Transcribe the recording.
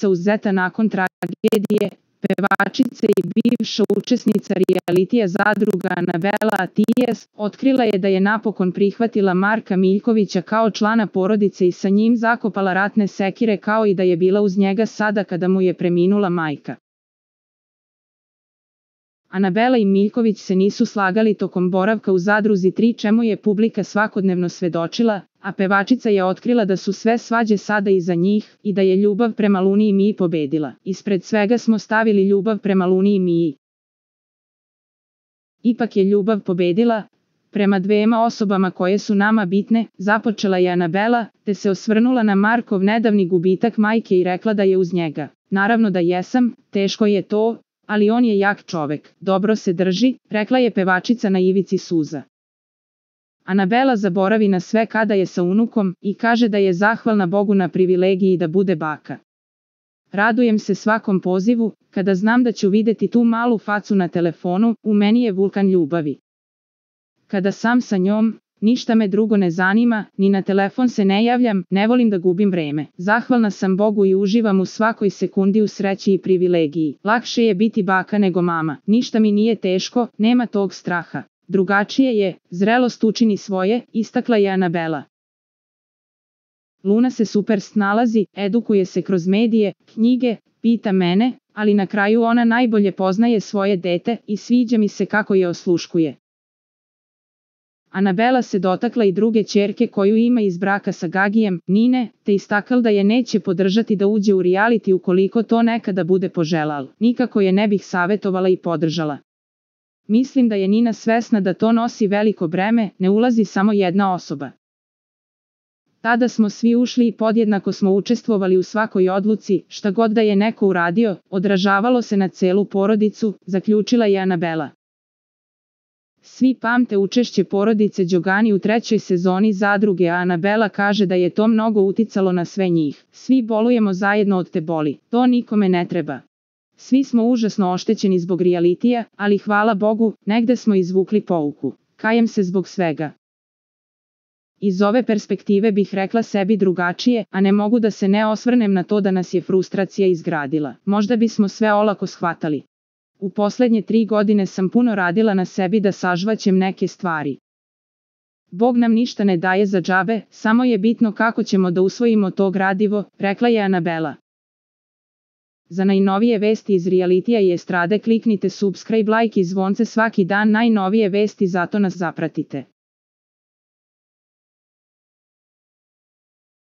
uzeta nakon tragedije, pevačica i bivša učesnica realitija Zadruga Anabela Atijes otkrila je da je napokon prihvatila Marka Miljkovića kao člana porodice i sa njim zakopala ratne sekire, kao i da je bila uz njega sada kada mu je preminula majka. Anabela i Miljković se nisu slagali tokom boravka u Zadruzi 3, čemu je publika svakodnevno svedočila, a pevačica je otkrila da su sve svađe sada iza njih i da je ljubav prema Luni i Miji pobedila. Ispred svega smo stavili ljubav prema Luni i Miji. Ipak je ljubav pobedila, prema dvema osobama koje su nama bitne, započela je Anabela, te se osvrnula na Markov nedavni gubitak majke i rekla da je uz njega. Naravno da jesam, teško je to, ali on je jak čovek, dobro se drži, rekla je pevačica na ivici suza. Anabela zaboravi na sve kada je sa unukom i kaže da je zahvalna Bogu na privilegiji da bude baka. Radujem se svakom pozivu, kada znam da ću videti tu malu facu na telefonu, u meni je vulkan ljubavi. Kada sam sa njom, ništa me drugo ne zanima, ni na telefon se ne javljam, ne volim da gubim vreme. Zahvalna sam Bogu i uživam u svakoj sekundi u sreći i privilegiji. Lakše je biti baka nego mama. Ništa mi nije teško, nema tog straha. Drugačije je, zrelost učini svoje, istakla je Anabela. Luna se super snalazi, edukuje se kroz medije, knjige, pita mene, ali na kraju ona najbolje poznaje svoje dete i sviđa mi se kako je osluškuje. Anabela se dotakla i druge ćerke koju ima iz braka sa Gagijem, Nine, te istakla da je neće podržati da uđe u reality ukoliko to nekada bude poželal. Nikako je ne bih savjetovala i podržala. Mislim da je Nina svesna da to nosi veliko breme, ne ulazi samo jedna osoba. Tada smo svi ušli i podjednako smo učestvovali u svakoj odluci, šta god da je neko uradio, odražavalo se na celu porodicu, zaključila je Anabela. Svi pamte učešće porodice Đogani u 3. sezoni Zadruge, a Anabela kaže da je to mnogo uticalo na sve njih. Svi bolujemo zajedno od te boli, to nikome ne treba. Svi smo užasno oštećeni zbog realitija, ali hvala Bogu, negde smo izvukli pouku. Kajem se zbog svega. Iz ove perspektive bih rekla sebi drugačije, a ne mogu da se ne osvrnem na to da nas je frustracija izgradila. Možda bismo sve olako shvatali. U poslednje 3 godine sam puno radila na sebi da sažvaćem neke stvari. Bog nam ništa ne daje za džabe, samo je bitno kako ćemo da usvojimo to gradivo, rekla je Anabela. Za najnovije vesti iz realitija i estrade kliknite subscribe, like i zvonce svaki dan, najnovije vesti, zato nas zapratite.